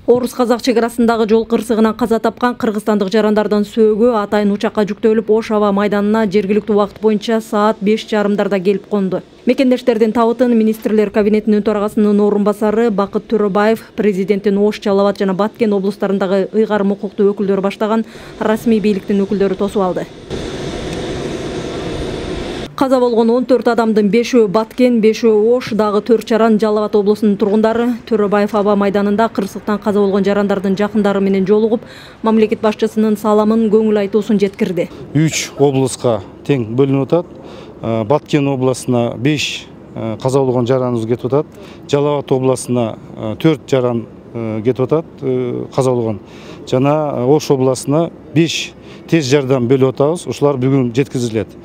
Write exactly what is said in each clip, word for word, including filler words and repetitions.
Орус-Казак чекарасындагы жол кырсыгынан каза тапкан кыргызстандык жарандардын сөөгү атайын учакка жүктөлүп, Ош аба майданына жергиликтүү убакыт боюнча саат беш жарымдарда келип конду. Мекендештердин табытын министрлер кабинетинин төрагасынын орун басары Бакыт Төрөбаев, президенттин Ош, Жалал Абад жана Баткен облустарындагы ыйгарым укуктуу өкүлдөрү баштаган расмий бийликтин өкүлдөрү тосуп алды. Каза болгон он төрт адамдын бешөө Баткен, бешөө Ош, дагы төрт жаран Жалал Абад облусунун тургундары. Төрөбаев аба майданында кырсыктан каза болгон жарандардын жакындары менен жолугуп, мамлекет башчысынын саламын, көңүл айтуусун жеткирди. үч облуска тең бөлүнүп атат. Баткен областына беш каза болгон жараныбыз кетип атат. Жалал Абад областына төрт жаран кетип атат, каза болгон. Жана Ош областына беш тез жардам бөлүп атабыз. Ушулар бүгүн жеткирилет.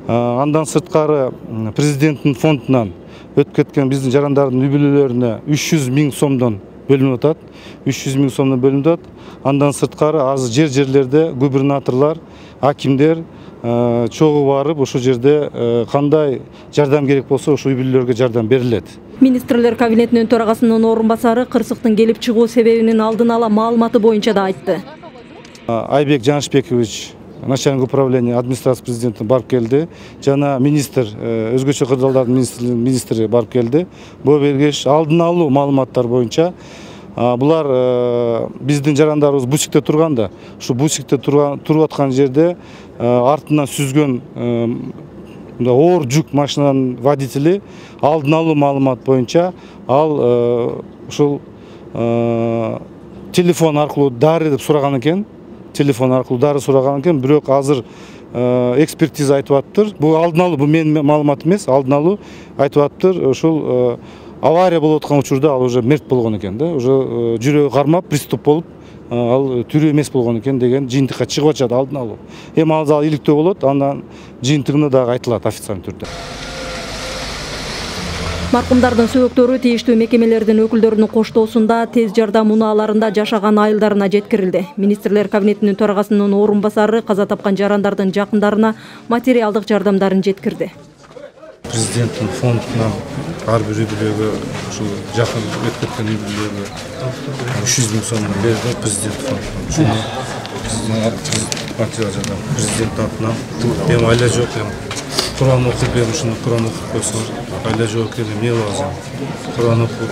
Андан сырткары президенттин фондунан өтүп кеткен биздин жарандардын үй бүлөлөрүнө үч жүз миң сомдон бөлүнүп атат. үч жүз миң сомдон бөлүнүп атат. Андан сырткары азыр жер-жерлерде губернаторлор, акимдер чогуу барып, ошол жерде кандай жардам керек болсо, ошол үй бүлөлөргө жардам берилет. Министрлер кабинетинин төрагасынын орун басары кырсыктын келип чыгуу себебинин алдын ала маалыматы боюнча да айтты. Айбек Жанышбекович, начальник управления администрации президенттин барып келди. Жана министр, өзгөчө кырдаалдардын министри барып келди. Бул бергеш алдын алуу маалыматтар боюнча булар биздин жарандарыбыз бусикте турганда, ушу бусикте туруп аткан жерде артынан сүзгөн оор жүк машинанын водители алдын алуу маалымат боюнча ал ушул телефон аркылуу дары деп сураган экен. Телефон аркылуу дары сураган экен, бирок азыр экспертиза айтып атыптыр. Бул алдын алуу, бул менин маалымат эмес, алдын алуу айтып атыптыр. Ушул авария болуп аткан учурда ал уже мерт болгон экен да, уже жүрөгү кармап, приступ болуп, ал тирүү эмес болгон экен деген жыйынтыкка чыгып атышат алдын алуу. Эми ал иликтөө болот, андан жыйынтыгына дагы айтылат официалдуу түрдө. Маркумдардын сөөктөрү тийиштүү мекемелердин өкүлдөрүнүн коштоосунда тез жардам унааларында жашаган айылдарына жеткирилди. Министрлер кабинетинин төрагасынын орун басары каза тапкан жарандардын жакындарына материалдык жардамдарын жеткирди. Президенттин фондунан ар бир үй бүлөгө, ушул жакын өтүп кеткен үй бүлөгө үч жүз миң сом берди президент фондунан. Ушуну материал жардам президент атынан. Эми айла жок, эми Кур'ан окуп, эми ушуну Кур'ан окуп койсоңор, айла жок экен, эмне кылабыз? Кур'ан окуп,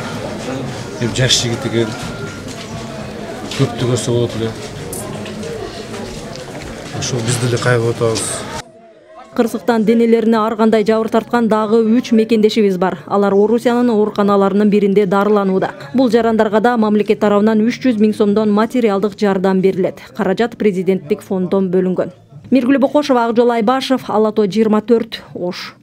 эми жаш жигит экен, көптү көрсө болот эле. Ошо биз деле кайгырып атабыз. Кырсыктан денелерине ар кандай жабыр тарткан дагы үч мекендешибиз бар. Алар Орусиянын ооруканаларынын биринде дарыланууда. Бул жарандарга да мамлекет тарабынан үч жүз миң сомдон материалдык жардам берилет. Каражат президенттик фонддон бөлүнгөн. Миргүл Бокошова, Акжол Айбашев, Ала тоо жыйырма төрт, Ош.